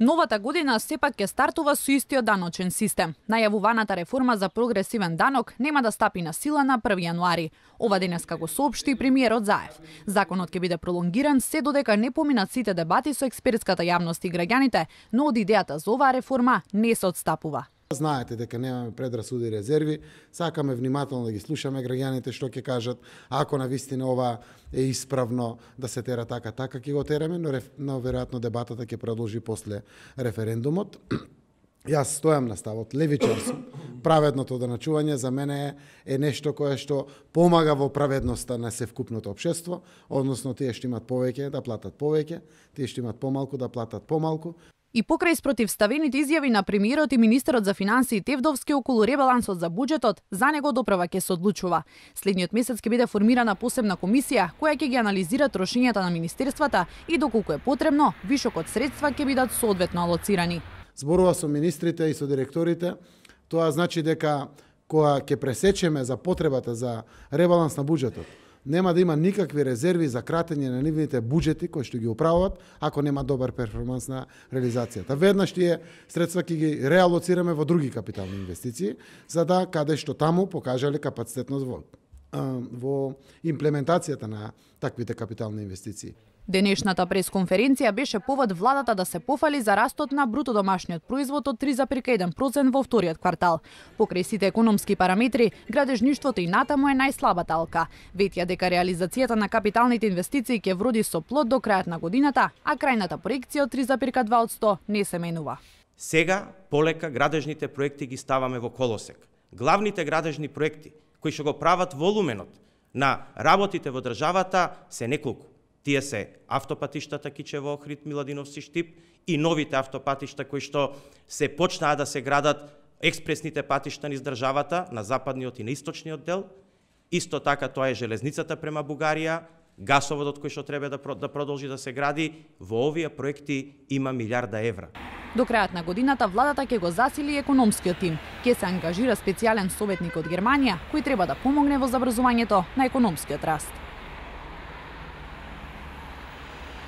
Новата година сепак ќе стартува со истиот даночен систем. Најавуваната реформа за прогресивен данок нема да стапи на сила на 1 јануари. Ова денеска го соопшти премиерот Заев. Законот ќе биде пролонгиран се додека не поминат сите дебати со експертската јавност и граѓаните, но од идејата за оваа реформа не се отстапува. Знаете дека немаме предрасуди и резерви, сакаме внимателно да ги слушаме граѓаните што ќе кажат, ако навистина ова е исправно да се тера така, ќе го тереме, но веројатно дебатата ќе продолжи после референдумот. Јас стојам на ставот, левичар сум. Праведното доначување за мене е нешто кое што помага во праведноста на севкупното општество, односно тие што имат повеќе да платат повеќе, тие што имат помалку да платат помалку. И покрај спротивставените изјави на премиерот и министерот за финансии Тевдовски околу ребалансот за буџетот, за него доправа ќе се одлучува. Следниот месец ќе биде формирана посебна комисија која ќе ги анализира трошењата на министерствата и доколку е потребно, вишокот средства ќе бидат соодветно алоцирани. Зборува со министрите и со директорите, тоа значи дека кога ќе пресечеме за потребата за ребаланс на буџетот, нема да има никакви резерви за кратење на нивните буџети кои што ги управуваат, ако нема добар перформанс на реализацијата. Веднаш тие средства ќе ги реалоцираме во други капитални инвестиции, за да каде што таму покажале капацитетност во имплементацијата на таквите капитални инвестиции. Денешната пресконференција беше повод владата да се пофали за растот на бруто домашниот производ од 3,1% во вториот квартал. Покрај сите економски параметри, градежништвото и натаму е најслабата алка. Ветија дека реализацијата на капиталните инвестиции ќе вроди со плод до крајот на годината, а крајната проекција од 3,2% не се менува. Сега полека градежните проекти ги ставаме во колосек. Главните градежни проекти кои што го прават волуменот на работите во државата се неколку. Тие се автопатиштата Кичево, Охрид, Миладиновци, Штип и новите автопатишта кои што се почнаа да се градат, експресните патишта низ државата на западниот и на источниот дел. Исто така тоа е железницата према Бугарија, гасоводот кој што треба да продолжи да се гради. Во овие проекти има милиарда евра. До крајот на годината владата ќе го засили економскиот тим. Ќе се ангажира специјален советник од Германија кој треба да помогне во забрзувањето на економскиот раст.